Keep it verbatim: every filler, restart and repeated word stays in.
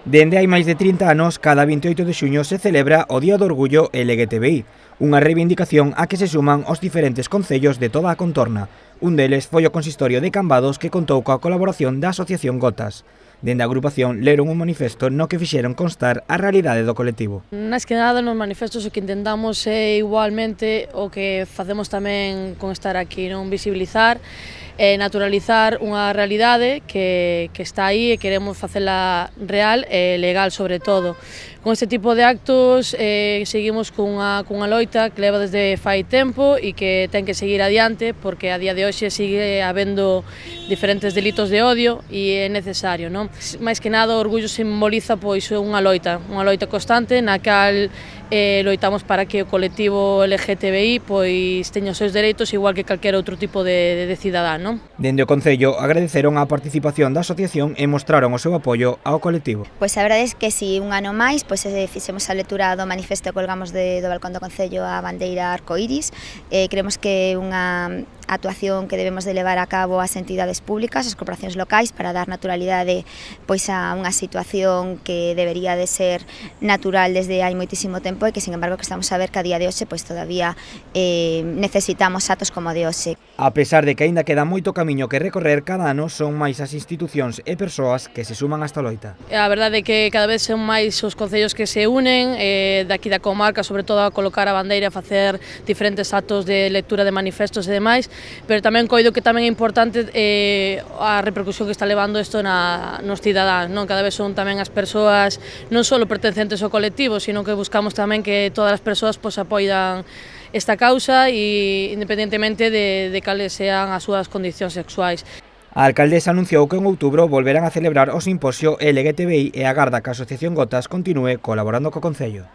Dende hai máis de trinta anos, cada vinte e oito de xuño se celebra o Día do Orgullo L G T B I, unha reivindicación a que se suman os diferentes concellos de toda a contorna. Un deles foi o consistorio de Cambados, que contou coa colaboración da Asociación Gotas. Dende a agrupación leron un manifesto no que fixeron constar a realidade do colectivo. Nas que nada, nos manifestos o que intentamos é igualmente o que facemos tamén con estar aquí, non visibilizar e naturalizar unha realidade que, que está aí e queremos facela real e legal sobre todo. Con este tipo de actos eh, seguimos cunha, cunha loita que leva desde fai tempo e que ten que seguir adiante porque a día de hoxe sigue habendo diferentes delitos de odio e é necesario, non? Mais que nada o orgullo simboliza pois unha loita, unha loita constante na cal eh, loitamos para que o colectivo L G T B I pois teña os seus dereitos igual que calquera outro tipo de, de cidadán, non? Dende o Concello agradeceron a participación da asociación e mostraron o seu apoio ao colectivo. Pois a verdade é que si un ano máis pois fixemos a lectura do manifesto e colgamos de, do balcón do Concello a bandeira arcoíris. Eh, creemos que é unha actuación que debemos de levar a cabo as entidades públicas, as corporacións locais, para dar naturalidade pois a unha situación que debería de ser natural desde hai moitísimo tempo e que, sin embargo, que estamos a ver que a día de hoxe pois todavía eh, necesitamos atos como de hoxe. A pesar de que aínda queda moito camiño que recorrer, cada ano son máis as institucións e persoas que se suman a esta loita. A verdade é que cada vez son máis os concellos que se unen eh, daqui da comarca, sobre todo a colocar a bandeira, a facer diferentes actos de lectura de manifestos e demais, pero tamén coido que tamén é importante eh, a repercusión que está levando isto na, nos cidadáns, non? Cada vez son tamén as persoas non só pertencentes ao colectivo, sino que buscamos tamén que todas as persoas pois, apoian esta causa e independentemente de, de cales sean as súas condicións sexuais. A alcaldesa anunciou que en outubro volverán a celebrar o simposio L G T B I e agarda que a Asociación Gotas continúe colaborando co Concello.